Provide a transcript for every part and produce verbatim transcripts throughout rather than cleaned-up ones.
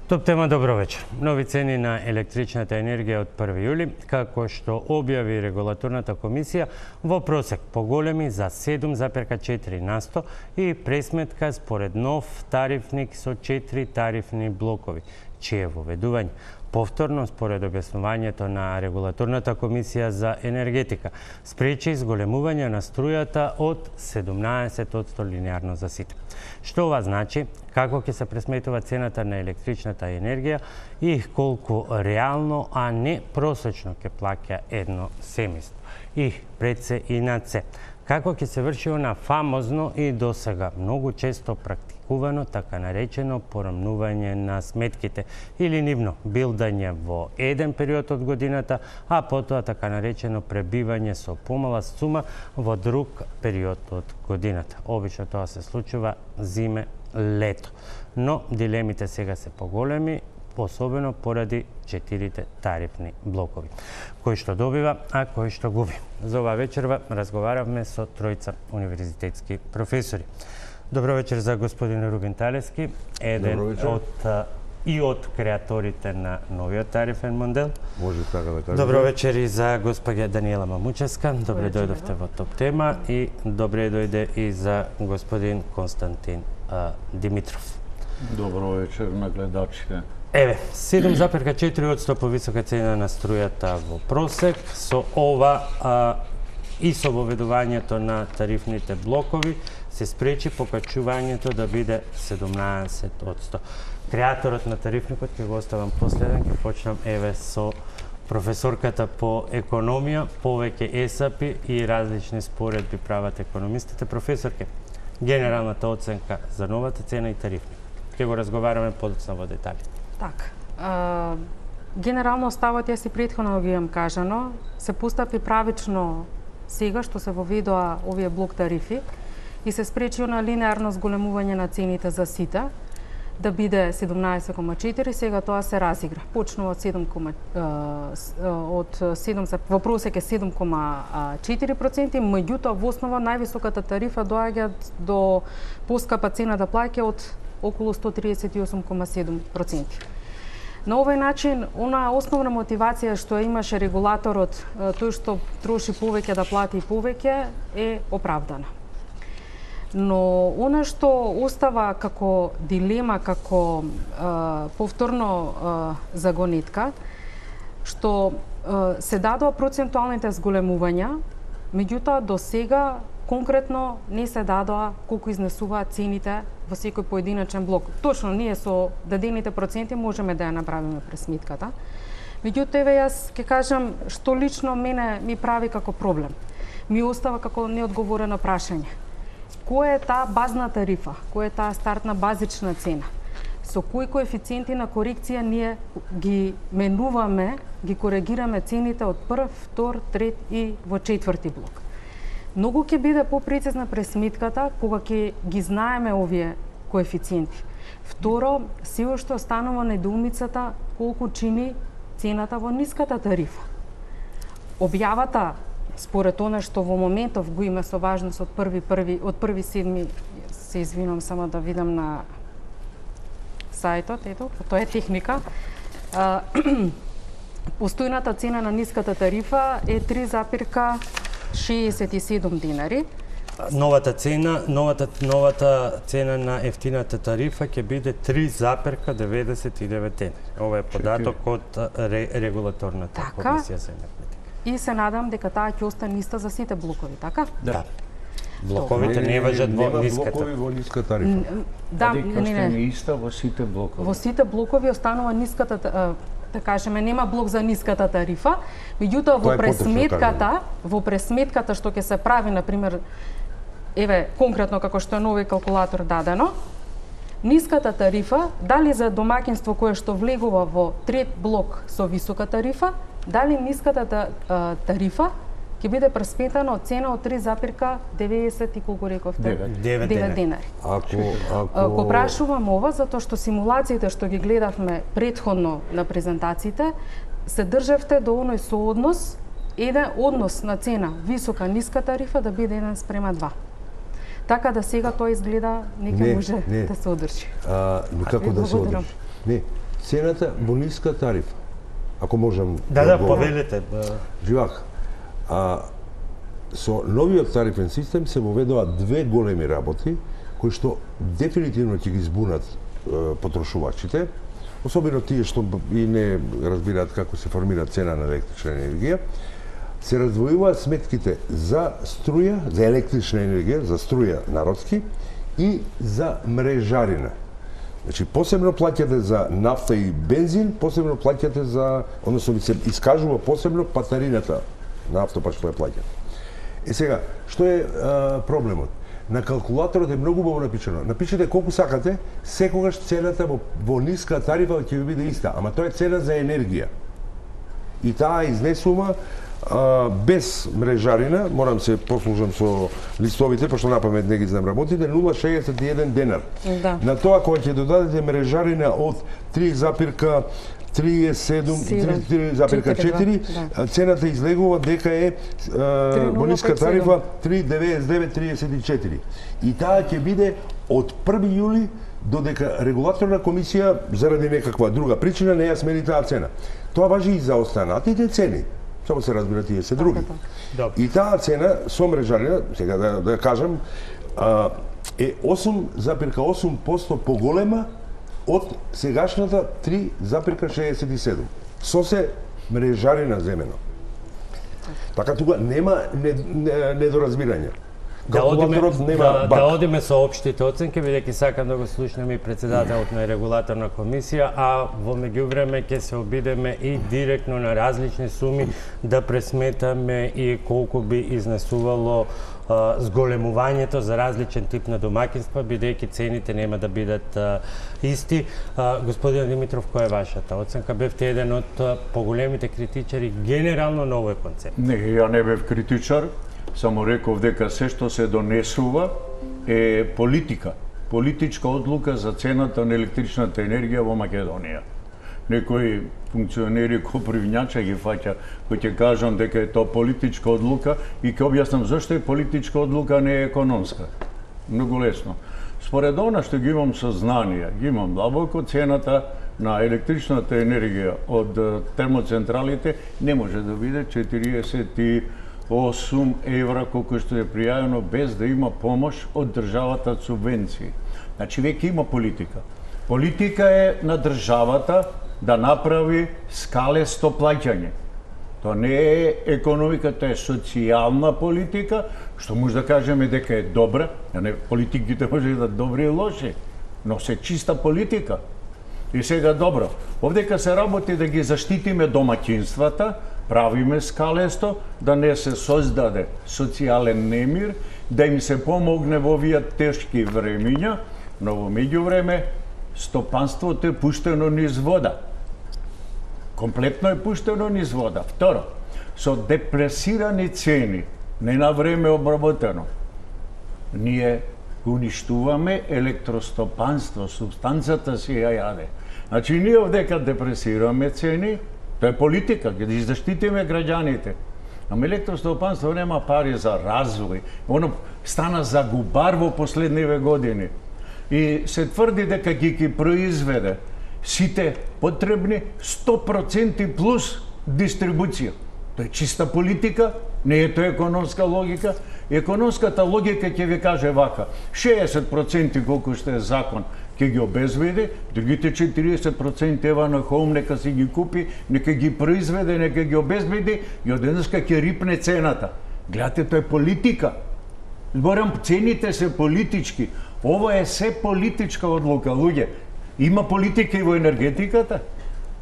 Топ тема, добро вечер. Нови цени на електричната енергија од први јули, како што објави регулаторната комисија, во просек поголеми за седум зарез четири на сто и пресметка според нов тарифник со четири тарифни блокови, чие воведување повторно, според објаснувањето на регулаторната комисија за енергетика, спречи зголемување на струјата од седумнаесет одсто линеарно за сите. Што ова значи, како ќе се пресметува цената на електричната енергија и колку реално, а не просечно ќе плаќа едно семејство. И пред се и над се, како ќе се врши она фамозно и досега многу често практикувано така наречено порамнување на сметките или нивно билдање во еден период од годината, а потоа така наречено пребивање со помала сума во друг период од годината. Обично тоа се случува зиме, лето. Но дилемите сега се поголеми, особено поради четирите тарифни блокови. Кој што добива, а кој што губи. За ова вечерва разговаравме со тројца универзитетски професори. Добро вечер за господин Рубин Талевски, еден од и од креаторите на новиот тарифен модел. Може така да кажем. Добро вечер и за госпоѓа Даниела Мамучевска. Добре дојдовте во Топ тема и добре дојде и за господин Константин а, Димитров. Добро вечер на гледачите. Еве, седум зарез четири одсто повисока цена на струјата во просек, со ова а, и со воведувањето на тарифните блокови се спречи покачувањето да биде седумнаесет одсто. Креаторот на тарифникот ќе го оставам последен, ќе почнам еве со професорката по економија, повеќе есапи и различни споредби прават економистите. Професорке, генералната оценка за новата цена и тарифник. Ќе го разговараме подоцна во детали. Так, а, генерално ставот јас и претходно ги имам кажано, се постапи правично сега што се воведоа овие блок тарифи и се спречи на линеарно зголемување на цените за сите, да биде седумнаесет кома четири, сега тоа се разигра. Почнува од седум, од седум во просек е седум кома четири проценти, меѓутоа во основа највисоката тарифа доаѓа до поскапа цена да плаќа од околу сто триесет и осум кома седум проценти. На овој начин, она основна мотивација што имаше регулаторот, тој што троши повеќе да плати повеќе, е оправдана. Но она што остава како дилема, како е, повторно е, загонетка, што е, се дадоа процентуалните зголемувања, меѓутоа до сега конкретно не се дадоа колку изнесуваат цените во секој поединачен блок. Точно, ние со дадените проценти можеме да ја направиме пресметката. Меѓутоа, еве јас ќе кажам што лично мене ми прави како проблем. Ми остава како неодговорено прашање. Која е таа базна тарифа? Која е таа стартна базична цена? Со кои коефициенти на корекција ние ги менуваме, ги коригираме цените од прв, втор, трет и во четврти блок? Многу ќе биде попрецизна пресметката кога ќе ги знаеме овие коефициенти. Второ, се уште останува недоумицата колку чини цената во ниската тарифа. Објавата, според она што во моментов го има со важност од први први од први седми, се извинувам само да видам на сајтот, ето, тоа е техника. Постојната цена на ниската тарифа е три зарез шеесет и седум динари. Новата цена, новата новата цена на ефтината тарифа ќе биде три зарез деветдесет и девет динари. Ова е податок од регулаторната така, комисија за енергетика. И се надам дека таа ќе остане иста за сите блокови, така? Да. Блоковите не важат во ниската. Блокови во ниска тарифа. Да, не, не, не. не. Иста во сите блокови. Во сите блокови останува ниската, да кажеме, нема блок за ниската тарифа, меѓутоа во пресметката, во пресметката што ќе се прави, на пример, еве конкретно како што е нови калкулатор дадено, ниската тарифа, дали за домаќинство кое што влегува во трет блок со висока тарифа, дали ниската тарифа ќе биде пресметана од цена од три зарез деветдесет и колку рековте? девет денари. Ако ако Го прашувам ова затоа што симулациите што ги гледавме претходно на презентациите се држевте до оној сооднос, еден однос на цена висока ниска тарифа да биде еден спрема два. Така да сега тоа изгледа не ќе може не. да се одржи. А, никако да се одржи. Не. цената во ниска тарифа. Ако можам Да, да, одговорам. повелете. Живак, а со новиот тарифен систем се воведоа две големи работи кои што дефинитивно ќе ги збунат е, потрошувачите, особено тие што и не разбираат како се формира цена на електрична енергија. Се раздвојуваат сметките за струја, за електрична енергија, за струја народски и за мрежарина. Значи, посебно плаќате за нафта и бензин, посебно плаќате за, односно ви се искажува посебно патарината на автопат што ја плаќате. Е сега, што е а, проблемот? На калкулаторот е многу убаво напишано. Напишете колку сакате, секогаш цената во, во ниска тарифа ќе ви биде иста, ама тоа е цена за енергија. И таа изнесува а, без мрежарина, морам се послужам со листовите, пошто напамет не ги знам работите, нула целу шеесет и еден денар. Да. На тоа кога ќе додадете мрежарина од три запирка триесет и седум, три запирка четири, да. цената излегува дека е а, во ниска тарифа три деветдесет и девет триесет и четири. И таа ќе биде од први јули додека регулаторна комисија заради некаква друга причина не ја смени таа цена. Тоа важи и за останатите цени. Само се разбира тие се други. Добро. И таа цена со мрежарина, сега да, да кажам, а, е осум запирка осум проценти поголема од сегашната три запирка шеесет и седум. Со се мрежарина земено. Така тука нема недоразбирање. Да одиме, Калкулаторот нема да, баг. да одиме со општите оценки, бидејќи сакам да го слушнеме и председателот на регулаторна комисија, а во меѓувреме ќе се обидеме и директно на различни суми да пресметаме и колку би изнесувало а, зголемувањето за различен тип на домаќинства, бидејќи цените нема да бидат а, исти. А, господин Димитров, која е вашата оценка? Бевте еден од а, поголемите критичари генерално на овој концепт. Не, ја не бев критичар, само реков дека се што се донесува е политика, политичка одлука за цената на електричната енергија во Македонија. Некои функционери ко привњача ги фаќа, кои ќе кажам дека е тоа политичка одлука и ќе објаснам зашто е политичка одлука, не е економска. Многу лесно. Според она што ги имам сознание, ги имам длабоко, цената на електричната енергија од термоцентралите не може да биде четириесет и осум евра колку што е пријавено без да има помош од државата субвенции. Значи веќе има политика. Политика е на државата да направи скалесто плаќање. Тоа не е економика, тоа е социјална политика, што може да кажеме дека е добра, а не политиките може да добри и лоши, но се чиста политика. И сега добро, овдека се работи да ги заштитиме домаќинствата, правиме скалесто, да не се создаде социјален немир, да им се помогне во овие тешки времиња, но во меѓувреме стопанството е пуштено низ вода. Комплетно е пуштено низ вода. Второ, со депресирани цени, не на време обработено, ние уништуваме електростопанство, субстанцата си ја јаде. Значи, ние овдека депресираме цени, тоа е политика, ќе да заштитиме граѓаните. Ама електростопанство нема пари за развој. Оно стана загубар во последниве години. И се тврди дека ги ги произведе сите потребни сто проценти плюс дистрибуција. Тоа е чиста политика, не е тоа економска логика. Економската логика ќе ви каже вака, шеесет проценти колку што е закон ќе ги обезбеди, другите четириесет проценти ева на хом нека си ги купи, нека ги произведе, нека ги обезбеди и одеднашка ќе рипне цената. Гледате, тоа е политика. Зборам, цените се политички. Ова е се политичка одлука, луѓе. Има политика и во енергетиката.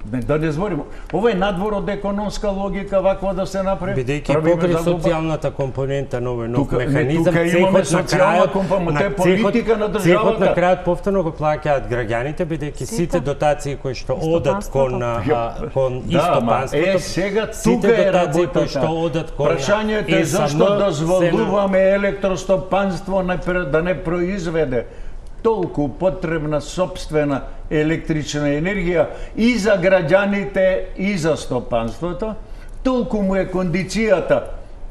Да не зборим. Ова е надвор од економска логика, ваква да се направи. Бидејќи покри социјалната компонента на овој нов тука, механизам, тука имаме цехот на социјална крајот, компонента, е на политика на државата. Цехот на крајот повторно го плаќаат граѓаните, бидејќи сите дотации кои што одат кон а, кон Да, истопанството, е сега сите тука е дотации кои работата. што одат кон Прашањето е зашто дозволуваме електростопанство да не произведе толку потребна собствена електрична енергија и за граѓаните и за стопанството, толку му е кондицијата.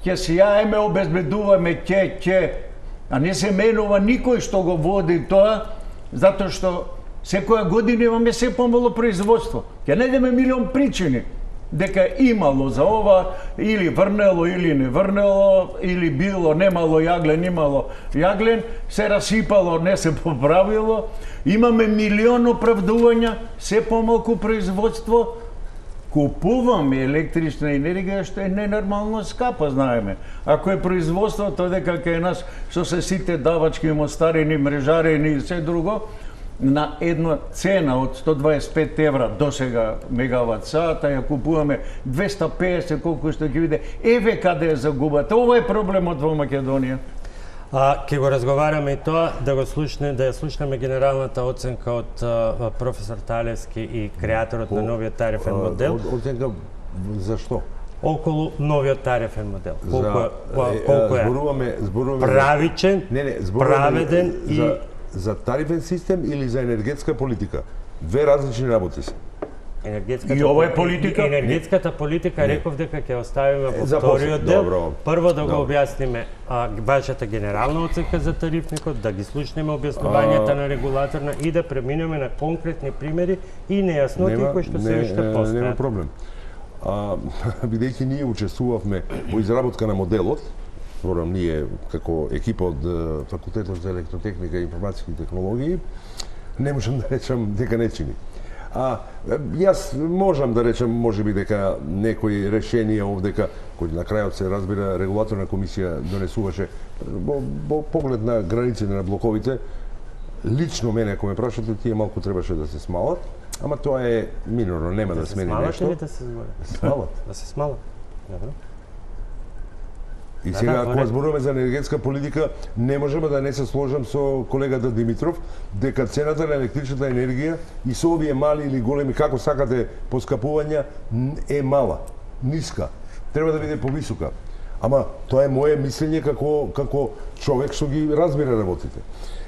Ќе се јаеме, обезбедуваме, ќе, ќе, а не се менува никој што го води тоа, затоа што Секоја година имаме се помало производство. Ќе најдеме милион причини дека имало за ова, или врнело, или не врнело, или било, немало јаглен, имало јаглен, се расипало, не се поправило. Имаме милион оправдувања, се помалку производство, купуваме електрична енергија што е ненормално скапа, знаеме. Ако е производството дека кај нас што се сите давачки, мостарени, мрежарени и се друго, на една цена од сто дваесет и пет евра до сега мегават сата, ја купуваме двесте и песет, колку што ќе биде. Еве каде е загубата. Ова е проблемот во Македонија. А ќе го разговараме и тоа, да го слушне, да ја слушнеме генералната оценка од а, професор Талевски и креаторот на новиот тарифен модел. Оценка за што? Околу новиот тарифен модел. Колку за, е, колку е зборуваме, зборуваме правичен, не, не, зборуваме праведен за, и за тарифен систем или за енергетска политика. Две различни работи се. Енергетската И ова е политика? Енергетската политика не. Реков дека ќе оставиме во За вториот после. дел. Добро. Прво да го Добро. објасниме а, вашата генерална оценка за тарифникот, да ги слушнеме објаснувањата А... на регулаторна и да преминеме на конкретни примери и нејасноти кои што се уште Нема постојат. проблем. А, бидејќи ние учествувавме во изработка на моделот, зборам ние како екипа од Факултетот за електротехника и информациски технологии, не можам да речам дека не чини. А јас можам да речем можеби дека некои решенија овдека кои на крајот се разбира регулаторна комисија донесуваше во, во поглед на границите на блоковите, лично мене ако ме прашате тие малку требаше да се смалат, ама тоа е минорно, нема да, да смени нешто. Или да се смалат? Да се смалат. Да се смалат. Добро. И Да, сега, да, кога зборуваме за енергетска политика, не можеме да не се сложам со колегата Димитров, дека цената на електричната енергија и со овие мали или големи, како сакате, поскапувања, е мала, ниска. Треба да биде повисока. Ама тоа е моje мислење како како човек што ги разбира работите.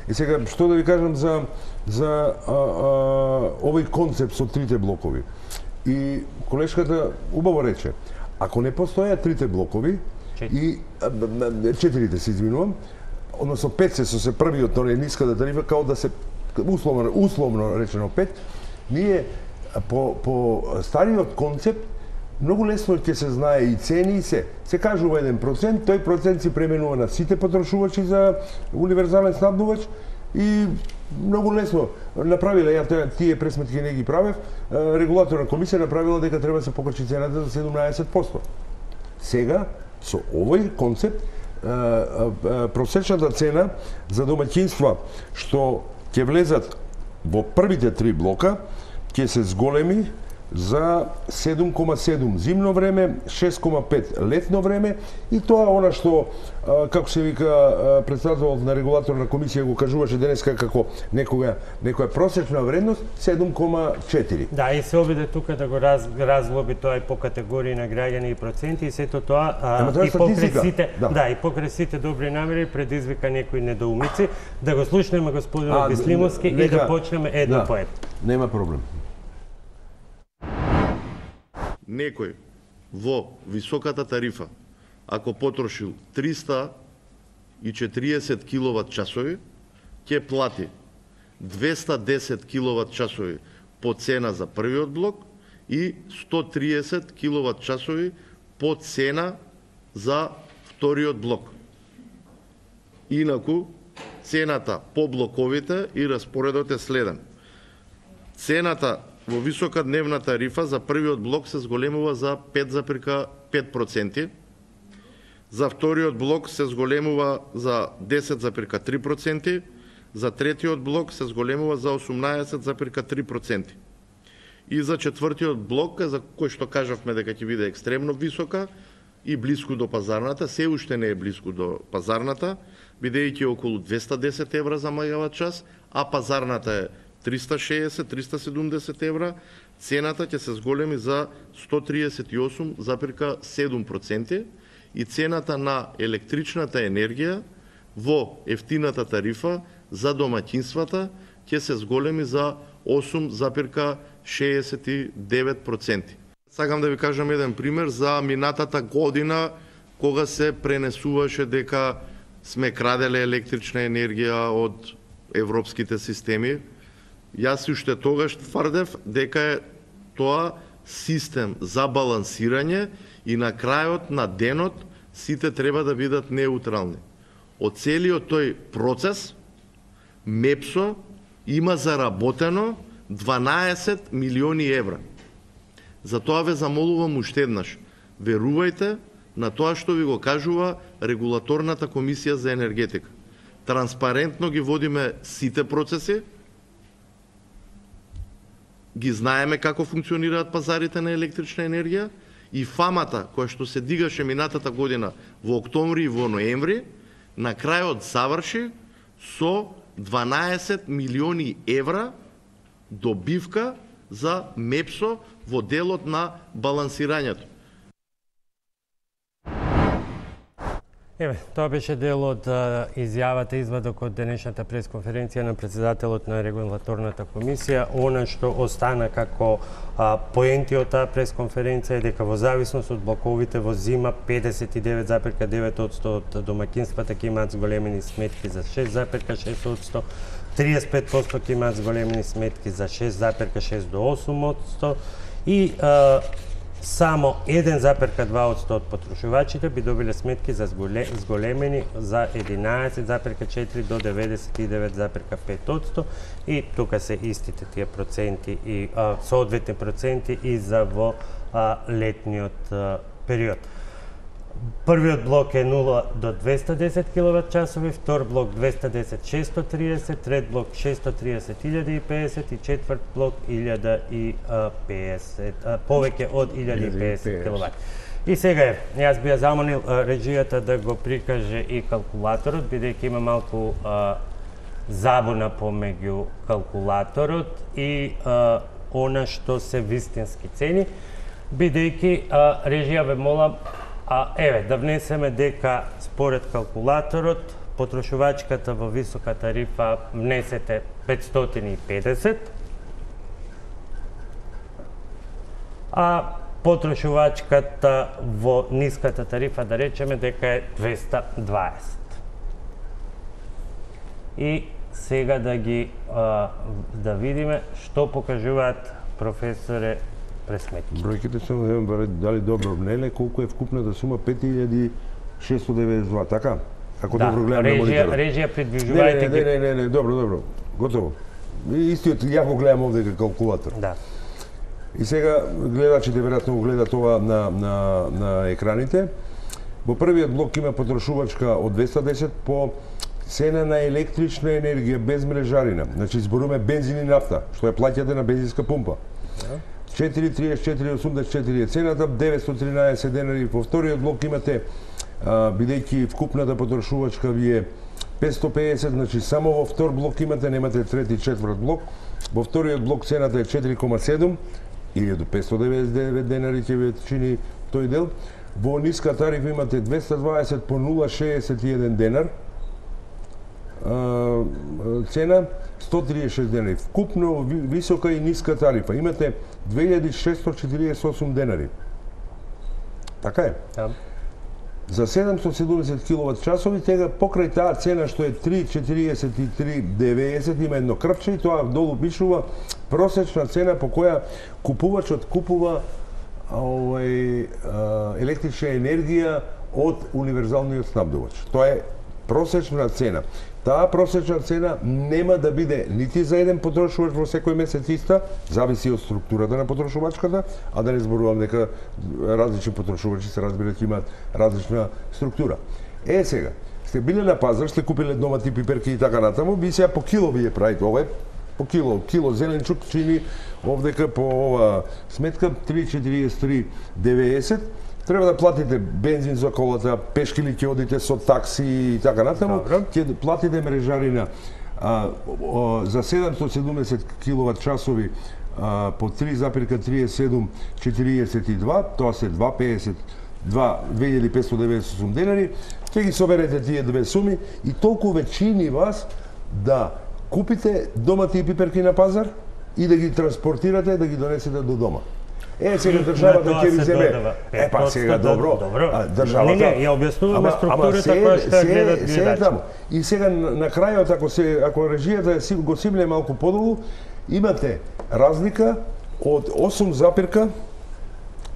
И сега, што да ви кажам за за а, а, овој концепт со трите блокови. И колешката убаво рече, ако не постојат трите блокови, и четирите се извинувам, односно пет се со се првиот на ниската тарифа, као да се условно условно речено пет, ние по по стариот концепт многу лесно ќе се знае и цени и се. Се кажува еден процент, тој процент се пременува на сите потрошувачи за универзален снабдувач и многу лесно направиле, ја тие пресметки не ги правев, регулаторна комисија направила дека треба да се покачи цената за седумнаесет проценти. Сега со овој концепт, просечната цена за домаќинства што ќе влезат во првите три блока ќе се зголеми за седум кома седум зимно време, шест кома пет летно време и тоа е она што, како се вика, председателот на регулаторна комисија го кажуваше денеска како некога некоја просечна вредност седум кома четири. Да, и се обиде тука да го раз, разлоби тоа и по категории на граѓани и проценти и сето тоа, а, тоа и покрај сите, да. да, и покрај сите добри намери предизвика некои недоумици. Да го слушнеме господинот Бислимовски и да почнеме едно да, по едно. Нема проблем. Некој во високата тарифа, ако потрошил триста и четириесет киловат часови, ќе плати двесте и десет киловат часови по цена за првиот блок и сто и триесет киловат часови по цена за вториот блок. Инаку, цената по блоковите и распоредот е следен. Цената во висока дневна тарифа за првиот блок се зголемува за пет запирка пет проценти, за вториот блок се зголемува за десет запирка три проценти, за третиот блок се зголемува за осумнаесет запирка три проценти. И за четвртиот блок, за кој што кажавме дека ќе биде екстремно висока и блиску до пазарната, се уште не е блиску до пазарната, бидејќи е околу двесте и десет евра за мегават час, а пазарната е триста и шеесет до триста и седумдесет евра, цената ќе се зголеми за сто и триесет и осум запирка седум проценти и цената на електричната енергија во ефтината тарифа за домаќинствата ќе се зголеми за осум запирка шеесет и девет проценти. Сакам да ви кажам еден пример за минатата година кога се пренесуваше дека сме краделе електрична енергија од европските системи. Јас уште тогаш тврдев дека е тоа систем за балансирање и на крајот на денот сите треба да бидат неутрални. Од целиот тој процес МЕПСО има заработено дванаесет милиони евра. Затоа ве замолувам уште еднаш. Верувајте на тоа што ви го кажува Регулаторната комисија за енергетика. Транспарентно ги водиме сите процеси, ги знаеме како функционираат пазарите на електрична енергија и фамата која што се дигаше минатата година во октомври и во ноември, на крајот заврши со дванаесет милиони евра добивка за МЕПСО во делот на балансирањето. Еве, тоа беше дел од а, изјавата, извадок од денешната пресконференција на председателот на Регулаторната комисија. Она што остана како а, поенти од таа пресконференција е дека во зависност од блоковите во зима педесет и девет зарез девет одсто од домаќинствата ќе имаат зголемени сметки за шест зарез шест одсто, триесет и пет одсто ќе имаат зголемени сметки за шест зарез шест до осум одсто и а, само еден зарез два одсто од потрошувачите би добиле сметки за зголемени за единаесет зарез четири до деветдесет и девет зарез пет одсто и тука се истите тие проценти и а, соодветни проценти и за во а, летниот а, период. Првиот блок е нула до двеста десет киловат часови, втор блок двеста десет шестоста триесет, трет блок шестоста триесет илјада и педесет и четврт блок илјада и педесет, повеќе од илјада и педесет киловат. И сега е, јас би ја замолил режијата да го прикаже и калкулаторот, бидејќи има малку а, забуна помеѓу калкулаторот и а, она што се вистински цени, бидејќи режија ве молам, а еве да внесеме дека според калкулаторот потрошувачката во висока тарифа внесете петстотини и педесет, а потрошувачката во ниската тарифа да речеме дека е двеста дваесет. И сега да ги а, да видиме што покажуваат професоре пресметки. Бројките се не дали добро внеле, колку е вкупната сума пет илјади шестоста деветдесет и два, така? Ако да, добро гледам на мониторот. Режија придвижувајте ги. Не, не, не, не, добро, добро. Готово. Истиот ја го гледам овде како калкулатор. Да. И сега гледачите веројатно го гледат ова на на на екраните. Во првиот блок има потрошувачка од двеста десет по цена на електрична енергија без мрежарина. Значи зборуваме бензин и нафта, што ја плаќате на бензинска пумпа. Да. четири триесет и четири осумдесет и четири е цената, деветстотини и тринаесет денари. Во вториот блок имате, а, бидејќи вкупната потрошувачка ви е петстотини и педесет, значи само во втор блок имате, немате трети и четврт блок. Во вториот блок цената е четири кома седум, илјада петстотини деведесет и девет денари ќе ви чини тој дел. Во ниска тарифа имате двеста дваесет по нула шеесет и еден денар. А, цена сто триесет и шест денари. Вкупно висока и ниска тарифа имате две илјади шестстотини четириесет и осум денари. Така е. Да. За седумстотини и седумдесет киловат часови, тега покрај таа цена што е три четириесет и три деветдесет има едно крпче и тоа долу пишува просечна цена по која купувачот купува овај електрична енергија од универзалниот снабдувач. Тоа е просечна цена. Таа просечна цена нема да биде нити за еден потрошувач во секој месец иста, зависи од структурата на потрошувачката, а да не зборувам дека различни потрошувачи се разбира ќе имаат различна структура. Е сега, сте биле на пазар, сте купиле домати, пиперки и така натаму, би сега по кило ви ја правите, ова е по кило, кило зеленчук чини овдека по ова сметка три четириесет и три деветдесет. Треба да платите бензин за колата, пешки ли ќе одите со такси и така натаму, ќе платите мрежарина а, о, за седумстотини и седумдесет киловат часови а, по три зарез триесет и седум четириесет и два, тоа се два педесет, две илјади петстотини деведесет и осум денари, ќе ги соберете тие две суми и толку ве чини вас да купите домати и пиперки на пазар и да ги транспортирате, да ги донесете до дома. Е, сега државата ќе ви земе. Е, па сега добро. Добро. А, државата. Не, не, ја објаснуваме структурата која што гледат гледачи. И сега на крајот ако се ако режијата го симле малку подолу, имате разлика од осум запирка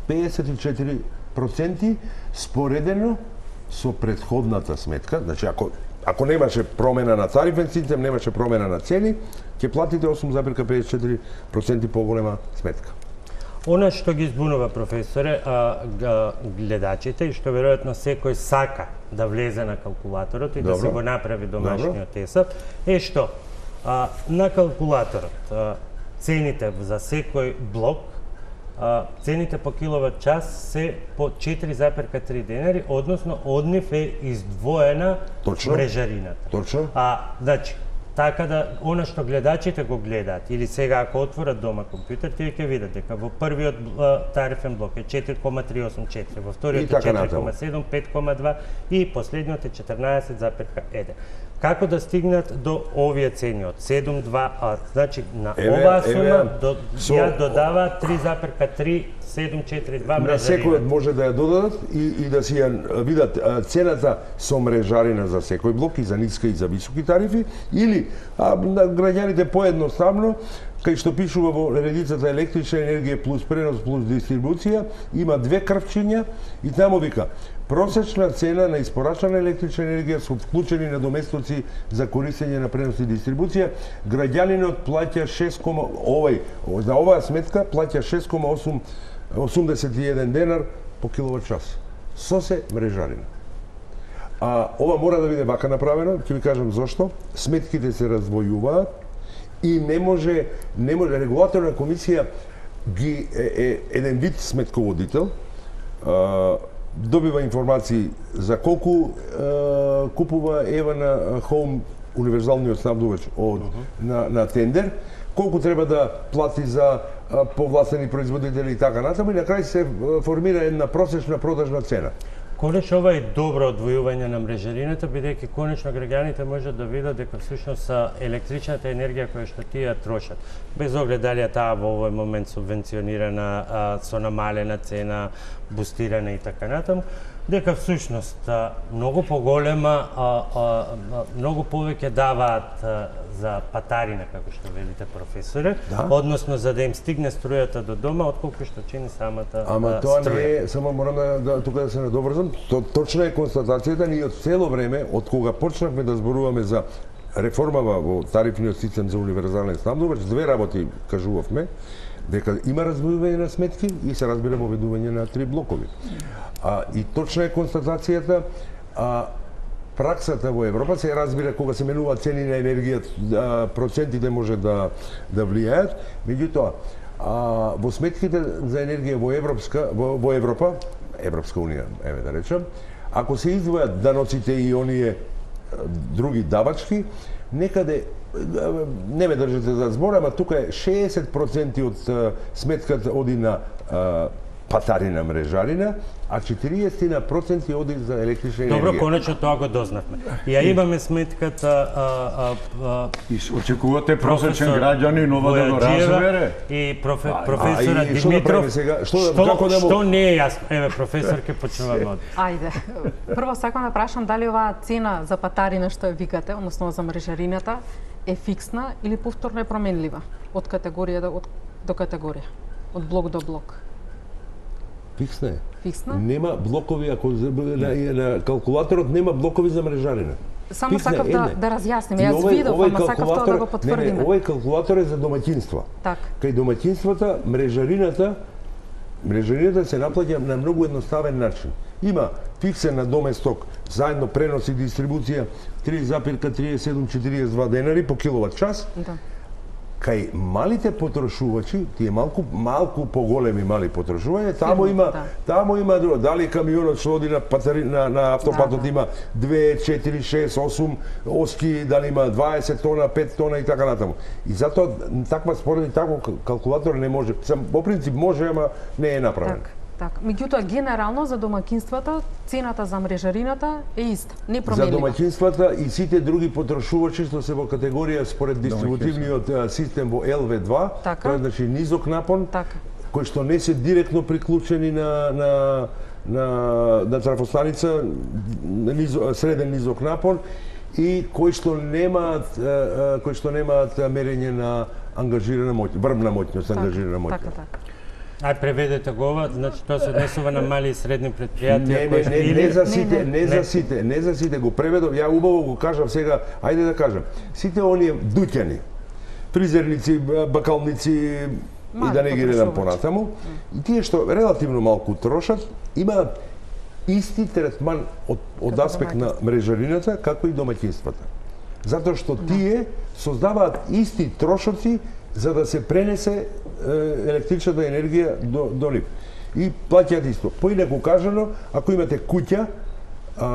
педесет и четири проценти споредено со претходната сметка. Значи, ако ако немаше промена на тарифен систем, немаше промена на цени, ќе платите осум запирка педесет и четири проценти поголема сметка. Она што ги збунува, професоре, а, га, гледачите и што веројатно секој сака да влезе на калкулаторот и Добро. да се го направи домашниот тесат, е што а, на калкулаторот а, цените за секој блок, а, цените по киловат час се по четири запирка три денари, односно од нив е издвоена Точно. мрежарината. Точно. А, значи, така да, она што гледачите го гледаат, или сега ако отворат дома компјутер, тие ќе видат дека во првиот а, тарифен блок е четири кома триста осумдесет и четири, во вториот е четири кома седум, пет кома два и последниот е четрнаесет запирка еден. Како да стигнат до овие цени од седум два, а значи на еве, оваа сума еве, до, со, ја додава три запирка три седум четири два мрежарина. На секој може да ја додадат и, и да си ја видат цената со мрежарина за секој блок и за ниска и за високи тарифи, или а, на граѓаните поедноставно, кај што пишува во редицата електрична енергија плюс пренос плюс дистрибуција, има две крвчиња и таму вика просечна цена на испорачана електрична енергија со вклучени надоместоци за користење на пренос и дистрибуција, граѓанинот плаќа шест, овај за оваа сметка плаќа шест кома осумдесет и еден денар по киловат час. Со се мрежарина. А ова мора да биде вака направено, ќе ви кажам зошто. Сметките се раздвојуваат и не може не може регулаторна комисија ги е, е еден вид сметководител, а, добива информации за колку а, купува ева на Home универзалниот снабдувач од uh -huh. на, на тендер, колку треба да плати за а, повластени производители и така натаму, и на крај се формира една просечна продажна цена. Конечно, ова е добро одвојување на мрежарината, бидејќи конечно граѓаните можат да видат дека всушност електричната енергија која што тие трошат, без оглед дали таа во овој момент субвенционирана, а, со намалена цена, бустирана и така натаму, дека всушност многу поголема, а, а, многу повеќе даваат а, за патарина, како што велите, професоре, да? Односно за да им стигне струјата до дома, отколку што чини самата Ама а, тоа струја. не е, само морам да, да тука да се надоврзам, то, точна е констатацијата, ние од цело време, од кога почнавме да зборуваме за реформава во тарифниот систем за универзален снабдувач, две работи кажувавме, дека има раздвојување на сметки и се разбира воведување на три блокови. А, и точна е констатацијата, а, праксата во Европа се разбира кога се менуваат цени на енергија, процентите може да да влијаат, меѓутоа а, во сметките за енергија во Европска во, во Европа, Европска унија, еве да речем, ако се издвојат даноците и оние други давачки, некаде не ме држите за збор, ама тука е шеесет проценти од сметката оди на а, патарина мрежарина, а четириесет проценти оди за електрична енергија. Добро, конечно тоа го дознавме. И ја имаме сметката а, а, а, и очекувате просечен граѓанин ова да го разбере. И профе, професора Димитров, што, што, што, како да му... што не е јасно? Еве, професор, ке почнуваме од. Ајде. Прво сакам да прашам дали оваа цена за патарина што ја викате, односно за мрежарината, е фиксна или повторно е променлива од категорија до, од, до категорија, од блок до блок? Фиксна е. Фиксна? Нема блокови, ако на, на калкулаторот нема блокови за мрежарина. Само Фиксна, сакав да, да разјасним. Јас видов, ама сакав тоа да го потврдиме. Не, не, овој калкулатор е за домаќинства. Так. Кај домаќинствата, мрежарината, мрежарината се наплаќа на многу едноставен начин. Има фиксен на доместок, заедно пренос и дистрибуција три запирка триесет и седум четириесет и два денари по киловат час. Да. Кај малите потрошувачи, тие малку малку поголеми мали потрошувања, таму има да. таму има дали камионот што оди на патари, на, на автопатот да, да. има две, четири, шест, осум оски, дали има дваесет тона, пет тона и така натаму. И затоа таква споредни таков калкулатор не може. Сам по принцип може, ама не е направен. Так. Так, меѓутоа генерално за домаќинствата цената за мрежарината е иста, не променлива. За домаќинствата и сите други потрошувачи што се во категорија според дистрибутивниот систем во Ел Ве два, така? Тоа е значи низок напон, така. кои што не се директно приклучени на на на на трафостаница низо, среден низок напон и кои што немаат кои што немаат мерење на ангажирана моќ, врвна моќност, ангажирана моќност. Така, така. Ај преведете го ова, значи тоа се однесува на мали и средни предпријатија Не, кои не, не, не за сите, не за сите, не за сите го преведов. Ја убаво го кажав сега, ајде да кажам. Сите оние дуќани, фризерници, бакалници и да не ги редам понатаму, и тие што релативно малку трошат, имаат исти третман од, од аспект на мрежарината како и домаќинствата. Затоа што тие создаваат исти трошоци за да се пренесе електричната енергија до, до нив. И плаќаат исто. Поинаку кажано, ако имате куќа а,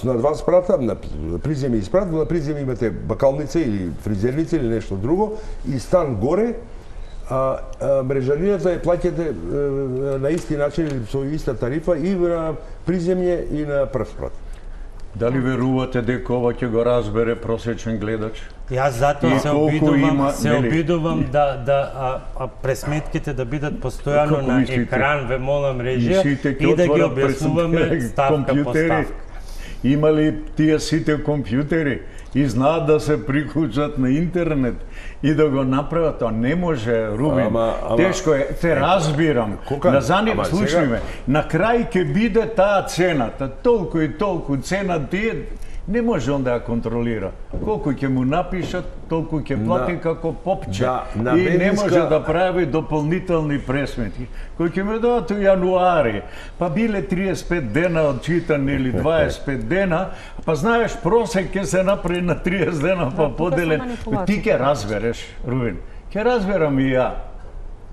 на два спрата, на приземи и спрат, на приземи имате бакалница или фризерница или нешто друго, и стан горе, а, а мрежарината ја плаќате а, на исти начин или со иста тарифа и на приземје и на прв спрат. Дали верувате дека ова ќе го разбере просечен гледач? Јас затоа И се колку обидувам, има, се нели? обидувам да да а, а пресметките да бидат постојано Како на мислите? екран, ве молам режија, Сите ќе и да ги отворат објаснуваме пред ставка по компјутери. ставка. Има ли тие сите компјутери и знаат да се приклучат на интернет и да го направат? Тоа не може, Рубин. Ама- ама- Тешко е, те разбирам. Кога? На заним, Ама слушај сега- ме, на крај ќе биде таа цената, толку и толку цена тие, не може он да ја контролира. Колку ќе му напишат, толку ќе плати На- како попче. да, на и не бензинска- може да прави дополнителни пресметки, кои ќе ме дадат у јануари. Па биле триесет и пет дена одчитани или дваесет и пет дена, па знаеш просек ќе се направи на триесет дена, па тука се поделен. манипулации. Ти ќе разбереш, Рубин. Ќе разберам и ја.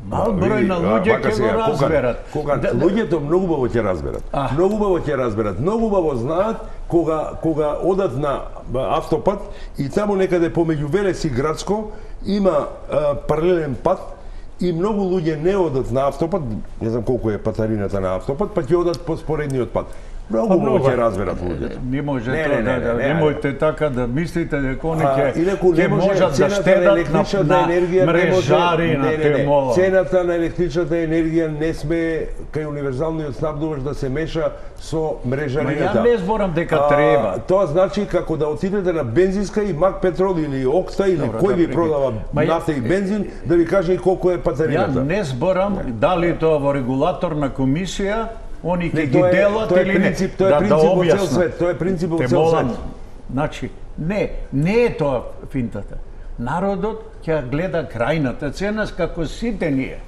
Мал број на луѓе вака ќе сега, го кога- разберат. Кога Да- луѓето многу убаво ќе разберат. А. Многу убаво ќе разберат. Многу убаво знаат кога кога одат на автопат и таму некаде помеѓу Велес и Градско има а, паралелен пат и многу луѓе не одат на автопат, не знам колку е патарината на автопат, па ќе одат по споредниот пат. Многу убаво ќе разберат луѓето. Не може Не, тоа не, да, не, да, не, не, немојте така да мислите дека они А, ќе инаку не ќе може можат да цената на штедат на, електричната на енергија не може мрежари на не, не, те не. мола. Цената на електричната енергија не сме кај универзалниот снабдувач да се меша со мрежарината. Ма ја не зборам дека А, треба. Тоа значи како да отидете на бензинска и Мак Петрол или Окста или Добро, кој да ви прикин. продава Ма ја- нафта и бензин да ви каже и колку е Ја патарината. не зборам дали тоа во регулаторна комисија они ќе Не, ги тоа е- делат тоа е или не. принцип- тоа е да, принцип да во цел објаснам. свет, тоа е принцип во Те цел молам, свет. Значи, не, не е тоа финтата. Народот ќе гледа крајната цена како сите ние.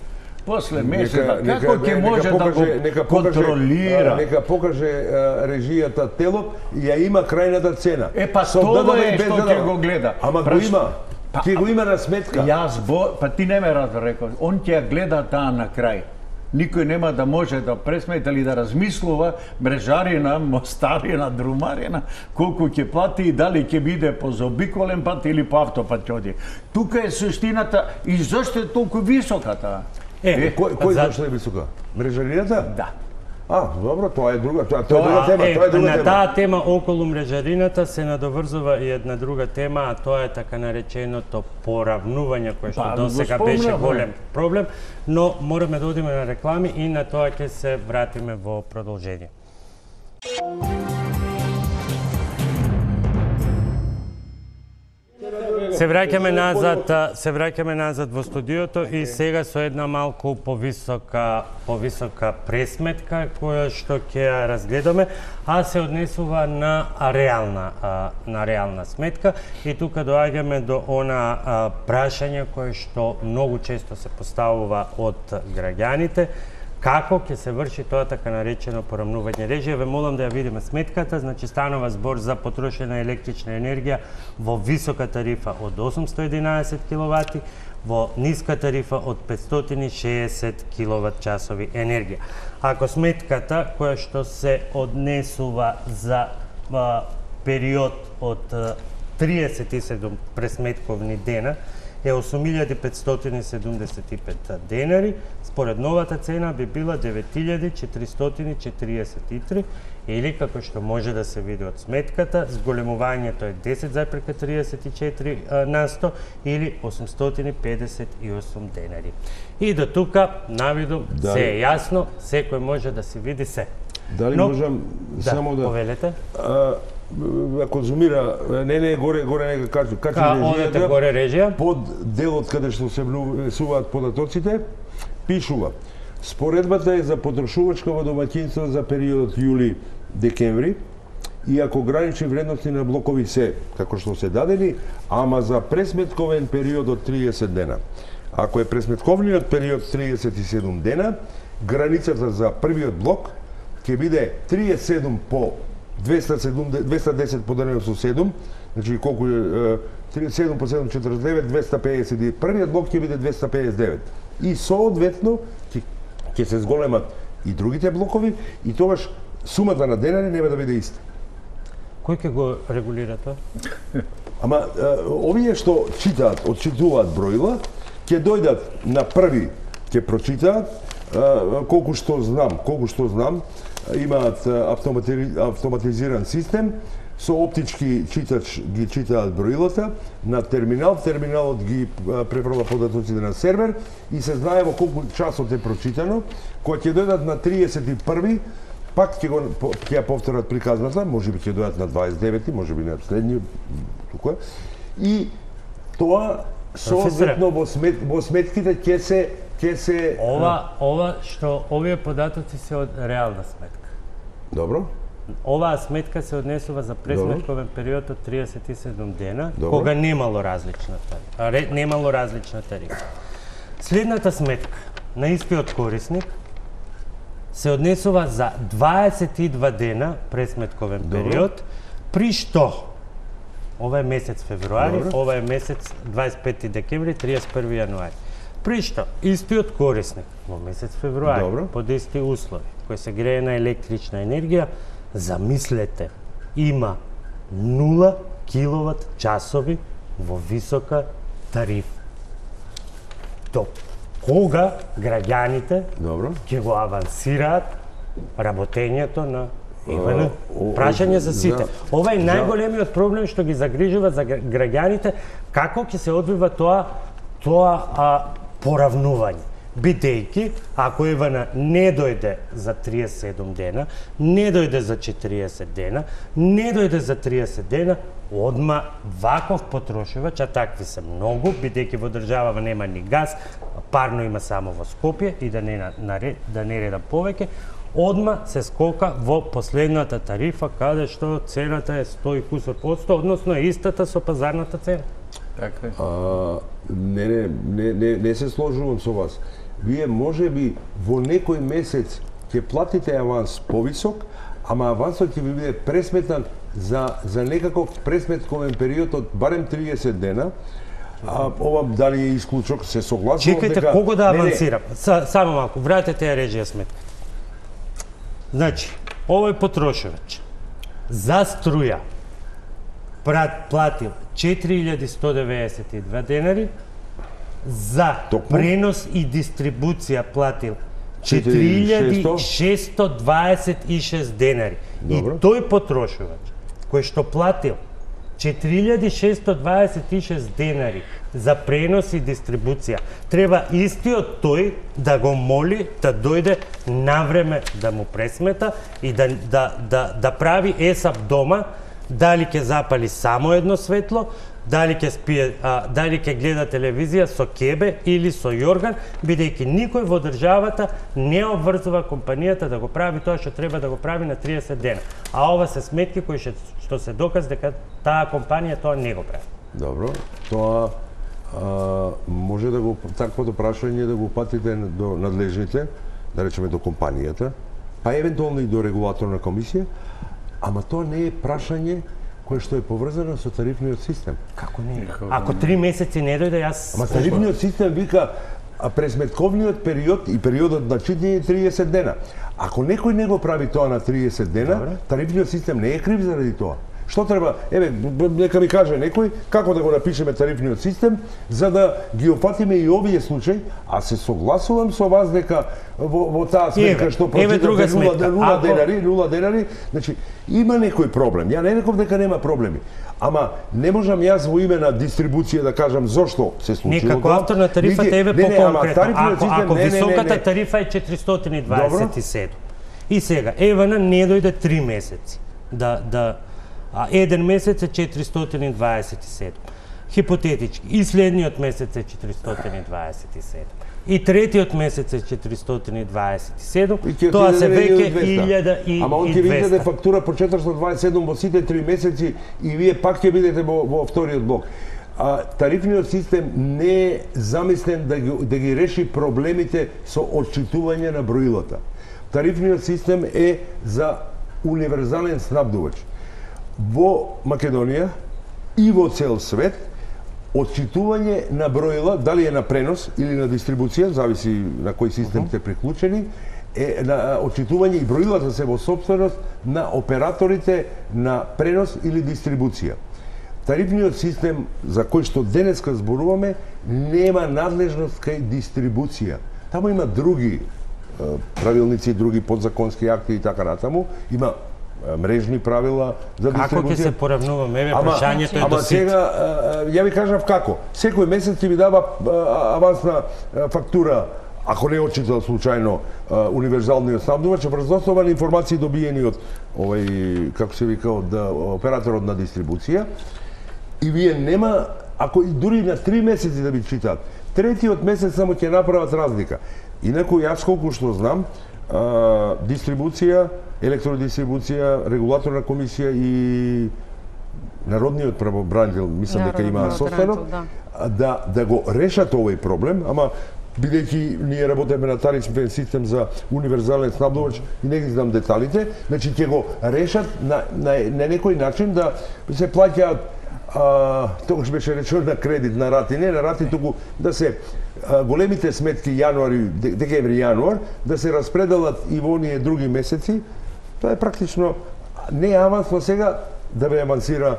После месеца, како ќе може да го нека покаже, контролира? а, Нека покаже а, режијата тело и ја има крајната цена. Е, па Со тоа ДДВ е и без што ДДВ. ќе го гледа. Ама го Праш- има. Па, Ќе го има на сметка. Јас бо, па ти не ме разбрекол. Он ќе ја гледа таа на крај. Никој нема да може да пресмета или да размислува мрежарина, мостарина, друмарина, колку ќе плати и дали ќе биде по заобиколен пат или по автопат ќе оди. Тука е суштината и зошто е толку висока таа? Е, Кој кој за- зашто е висока? Мрежарината? Да. А, добро, тоа е друга, тоа, тоа е Тоа друга тема, Е, тоа е друга на тема. таа тема околу мрежарината се надоврзува и една друга тема, а тоа е така нареченото поравнување кое што Па, досега го беше спомнавме. голем проблем, но мораме да одиме на реклами и на тоа ќе се вратиме во продолжение. Се враќаме назад, а, се враќаме назад во студиото и сега со една малку повисока повисока пресметка која што ќе ја разгледаме, а се однесува на реална а, на реална сметка и тука доаѓаме до она а, прашање кое што многу често се поставува од граѓаните. Како ќе се врши тоа така наречено поравнување режија? Ве молам да ја видиме сметката, значи станува збор за потрошена електрична енергија во висока тарифа од осумсто и единаесет киловати, во ниска тарифа од петстотини и шеесет киловат часови енергија. Ако сметката која што се однесува за а, период од а, триесет и седум пресметковни дена е осум илјади петстотини седумдесет и пет денари, според новата цена би била девет илјади четиристотини четириесет и три или како што може да се види од сметката, зголемувањето е десет запирка триесет и четири на сто или осумстотини педесет и осум денари. И до тука навидом Дали- се е јасно, секој може да се види се. Дали Но- можам Да, само да повелете. А, конзумира, не не горе горе нека кажу, качи Ка, одете горе режија? Под делот каде што се внесуваат податоците, пишува: споредбата е за потрошувачка во домаќинство за периодот јули-декември, иако гранични вредности на блокови се како што се дадени, ама за пресметковен период од триесет дена. Ако е пресметковниот период триесет и седум дена, границата за првиот блок ќе биде триесет и седум по двеста и десет поделено со седум, значи колку е триесет и седум по седум четиридесет и девет, двеста педесет. Првиот блок ќе биде двеста педесет и девет. И соодветно ќе ќе се зголемат и другите блокови и тогаш сумата на денари нема да биде иста. Кој ќе го регулира тоа? Ама овие што читаат, отчитуваат бројла, ќе дојдат на први, ќе прочитаат, колку што знам, колку што знам, имаат автоматизиран систем, со оптички читач ги читаат броилата на терминал, терминалот ги преправа податоците на сервер и се знае во колку часот е прочитано. Кога ќе дојдат на триесет и први, пак ќе го ќе ја повторат приказната, можеби ќе дојдат на дваесет и девети, можеби на следниот тука. И тоа соодветно во смет во сметките ќе се ќе се Ова ова што овие податоци се од реална сметка. Добро. Оваа сметка се однесува за пресметковен период од триесет и седум дена, Добро. кога немало различна тарифа. Немало различна тарифа. Следната сметка на истиот корисник се однесува за дваесет и два дена пресметковен период, при што ова е месец февруари, Добро. ова е месец дваесет и пети декември, триесет и први јануари. При што истиот корисник во месец февруари, Добро. под исти услови, кој се грее на електрична енергија, замислете, има нула киловат часови во висока тарифа. До кога граѓаните Добро. ќе го авансираат работењето на ЕВН? А, о, Прашање за сите. за- Ова е за- најголемиот проблем што ги загрижува за гра- граѓаните, како ќе се одвива тоа тоа а, поравнување. Бидејќи, ако ЕВН не дојде за триесет и седум дена, не дојде за четириесет дена, не дојде за триесет дена, одма ваков потрошувач, а такви се многу, бидејќи во државава нема ни газ, парно има само во Скопје и да не, наре, да не редам повеќе, одма се скока во последната тарифа, каде што цената е сто и кусор подсто, односно е истата со пазарната цена. Така е. А, не, не, не, не, не се сложувам со вас. Вие може би во некој месец ќе платите аванс повисок, ама авансот ќе ви биде пресметнат за, за некаков пресметковен период од барем триесет дена. А, ова дали е исклучок, се согласувам Чекајте, дека... кого да Не, не, авансирам? Са, само малку, вратете ја режија сметка. Значи, овој потрошувач за струја прат, платил четири илјади сто деветдесет и два денари, за Токму? пренос и дистрибуција платил четири четири илјади илјади шесто дваесет и шест денари. Добро. И тој потрошувач, кој што платил четири илјади шесто дваесет и шест денари за пренос и дистрибуција, треба истиот тој да го моли да дојде навреме да му пресмета и да, да, да, да прави ЕСАП дома, дали ќе запали само едно светло, дали ќе спие, а, дали ќе гледа телевизија со кебе или со јорган, бидејќи никој во државата не обврзува компанијата да го прави тоа што треба да го прави на триесет дена. А ова се сметки кои што, што се доказ дека таа компанија тоа не го прави. Добро, тоа а, може да го таквото прашање да го патите до надлежните, да речеме до компанијата, па евентуално и до регулаторна комисија, ама тоа не е прашање кое што е поврзано со тарифниот систем. Како не? Ако три месеци не дојде, јас... Ама тарифниот систем вика а пресметковниот период и периодот на читање е триесет дена. Ако некој не го прави тоа на триесет дена, Добре. тарифниот систем не е крив заради тоа. Што треба? Еве, нека ми каже некој како да го напишеме тарифниот систем за да ги опфатиме и овие случаи, а се согласувам со вас дека во, во таа сметка Еве, што еве друга прочитате нула, сметка. нула Ако- денари, нула денари, значи има некој проблем. Ја не реков дека нема проблеми. Ама не можам јас во име на дистрибуција да кажам зошто се случило. Не, како тоа. автор на тарифата Нити- еве не, не, ама по-конкретно. тарифниот Ако, систем, ако не, не, не, високата не. тарифа е четиристотини дваесет и седум. И сега, ЕВН не дојде три месеци да, да а еден месец е четиристотини и дваесет и седум. Хипотетички. И следниот месец е четиристотини и дваесет и седум. И третиот месец е четиристотини и дваесет и седум. Тоа се веќе илјада и двесте. Ама он ќе ви издаде фактура по четиристотини и дваесет и седум во сите три месеци и вие пак ќе бидете во, во вториот блок. А, тарифниот систем не е замислен да ги, да ги реши проблемите со отчитување на броилата. Тарифниот систем е за универзален снабдувач. Во Македонија и во цел свет, отчитување на броила, дали е на пренос или на дистрибуција, зависи на кој систем сте приклучени, е на отчитување и броилата се во собственост на операторите на пренос или дистрибуција. Тарифниот систем за кој што денеска зборуваме нема надлежност кај дистрибуција. Таму има други правилници, други подзаконски акти и така натаму. Има мрежни правила за дистрибуција. Како ќе се поравнуваме? Еве прашањето е до Ама сит. сега, ја ви кажав како. Секој месец ќе ви дава авансна фактура, ако не отчита случајно универзалниот снабдувач, врз основа на информации добиени од овој, како се вика, од операторот на дистрибуција. И вие нема, ако дури на три месеци да ви читаат, третиот месец само ќе направат разлика. Инаку јас колку што знам, а, дистрибуција, електродистрибуција, регулаторна комисија и народниот правобранител, мислам дека има состанок, да. да да го решат овој проблем, ама бидејќи ние работиме на тарифен систем за универзален снабдувач и не ги знам деталите, значи ќе го решат на, на, на некој начин да се плаќаат А, тогаш беше речено на кредит, на рати, не на рати, туку да се а, големите сметки јануари, декември, јануар, да се распределат и во оние други месеци. Тоа е практично не авансно сега да ве авансира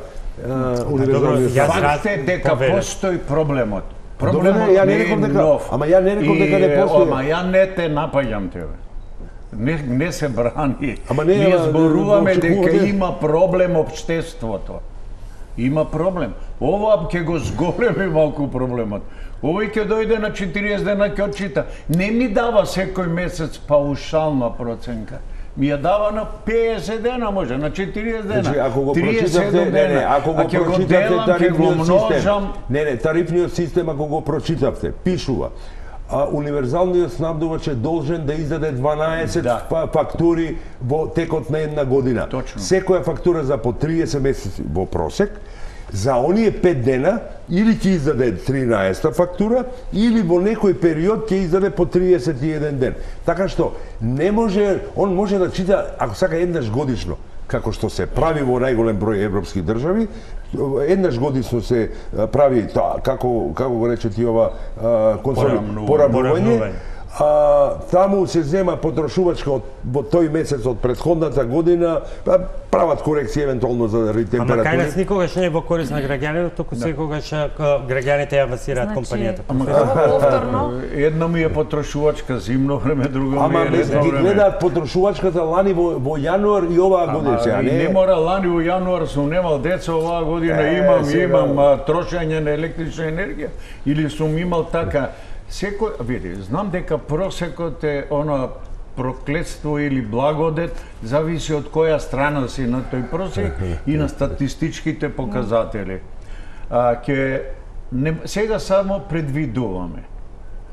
универзалниот снабдувач. Факт е дека постои проблемот. Проблемот Добре, не е нов. Ама ја не реков дека не постои. Ама ја не те напаѓам тебе. Не, не се брани. Ама не, Ние зборуваме да, дека да, има проблем општеството. Има проблем. Ова ќе го зголеми малку проблемот. Овој ќе дојде на четириесет дена ќе отчита. Не ми дава секој месец паушална проценка. Ми ја дава на петдесет дена, може, на четириесет дена. Значи, ако го триесет прочитавте, не, не, ако го прочитавте тарифниот систем, не, не, тарифниот систем, ако го прочитавте, пишува, а универзалниот снабдувач е должен да издаде дванаесет да. фактури во текот на една година. Точно. Секоја фактура за по триесет месеци во просек, за оние пет дена или ќе издаде тринаесета фактура, или во некој период ќе издаде по триесет и еден ден. Така што не може, он може да чита, ако сака еднаш годишно, како што се прави во најголем број европски држави, еднаш годишно се прави тоа, како како го рече ти ова поравнување. А, таму се зема потрошувачка од во тој месец од претходната година, прават корекции евентуално за температури. Ама кај нас никогаш не е во корист на граѓаните, туку да. Секогаш граѓаните ја авансираат значи, компанијата. Ама повторно една ми е потрошувачка зимно време, друга ми ама е летно време. Ама ги гледаат потрошувачката лани во, во јануар и оваа година. Ама не... не мора лани во јануар сум немал деца, оваа година е, имам сега... имам а, трошење на електрична енергија или сум имал така. Секој, види, знам дека просекот е оно проклетство или благодет, зависи од која страна си на тој просек и на статистичките показатели. А, ке, не, сега само предвидуваме.